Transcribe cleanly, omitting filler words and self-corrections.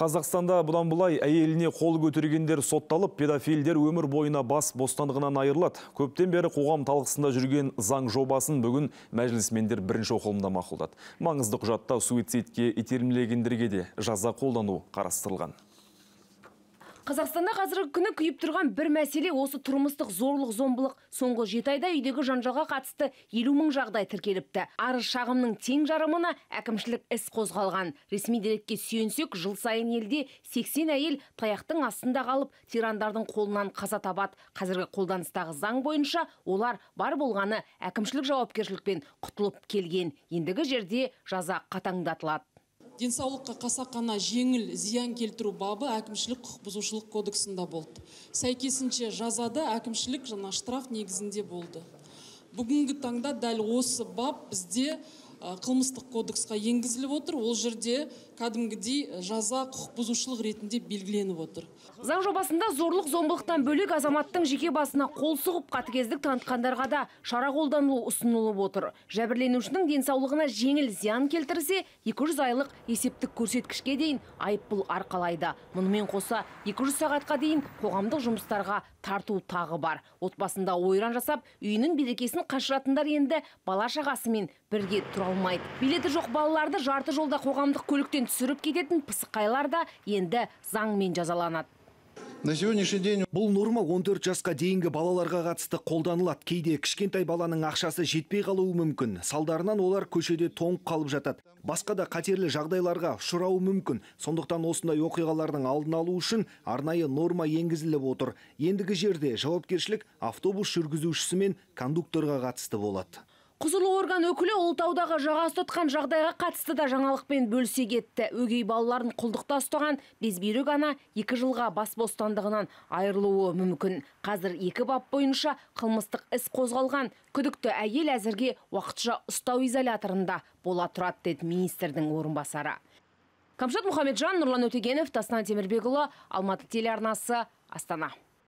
Қазақстанда бұдан бұлай әйеліне қол көтергендер сотталып, педофилдер өмір бойына бас бостандығынан айырылады. Көптен бері қоғам талқысында жүрген заң жобасын бүгін мәжілісмендер бірінші оқылымда мақұлдады. Маңызды құжатта суицидке итермелегендерге де жаза қолдану қарастырылған. Қазақстанда қазіргі күні күйіп тұрған бір мәселе осы тұрмыстық зорлық-зомбылық. Соңғы 7 айда үйдегі жанжалға қатысты 50 мың жағдай тіркеліпті. Арыз шағымның тең жарымына әкімшілік іс қозғалған. Ресми дерекке сүйенсек, жыл сайын елде 80 әйел таяқтың астында қалып, тирандардың қолынан қаза табады. Қазіргі қолданыстағы заң бойынша олар бар болғаны әкімшілік жауапкершілікпен құтылып келген. Ендігі жерде жаза қатаңдатылады. Денсаулыққа қасақана жеңіл зиян келтіру бабы әкімшілік құқық бұзушылық кодексінде болды. Сәйкесінше жазада әкімшілік жаңа штраф негізінде болды. Бүгінгі таңда дәл осы бап бізде қылмыстық кодексқа енгізіліп отыр. Ол жерде кәдімгідей жаза құқық бұзушылық ретінде белгіленіп отыр. Заң жобасында зорлық-зомбылықтан бөлек азаматтың жеке басына қол сұғып қатыгездік танытқандарға да шара қолданылу ұсынылып отыр. Жәбірленушінің денсаулығына жеңіл зиян келтірсе, 200 айлық есептік көрсеткішке дейін айыппұл арқалайды. Мұнымен қоса 200 сағатқа дейін қоғамдық жұмыстарға тарту тағы бар. Отбасында ойран жасап, үйінің берекесін қашыратындар енді бала-шағасымен бірге тұра алмайды. Билеті жоқ балаларды жарты жолда қоғамдық көліктен түсіріп кететін пысықайлар да енді заңмен жазаланады. На сегодняшний день бұл норма 14 жасқа дейінгі балаларға қатысты қолданылады. Кейде кішкентай баланың ақшасы жетпей қалуы мүмкін. Салдарынан олар көшеде тоңып қалып жатады. Басқа да қатерлі жағдайларға ұшырауы мүмкін. Сондықтан осындай оқиғалардың алдын алу үшін арнайы норма енгізіліп отыр. Ендігі жерде жауапкершілік автобус жүргізушісі мен кондукторға қатысты болады. Құзырлы орган өкілі Ұлытаудағы жаға ұстатқан жағдайға қатысты да жаңалықпен бөлісе кетті. Өгей балаларын құлдықта ұстаған безбүйрек ана 2 жылға бас бостандығынан айырылуы мүмкін. Қазір 2 бап бойынша қылмыстық іс қозғалған. Күдікті әйел әзірге уақытша ұстау изоляторында бола тұрады, деді министрдің орынбасары. Камшат Мұхамеджан, Нұрлан Өтегенов, Тасна Темірбекұлы, Алматы телеарнасы, Астана.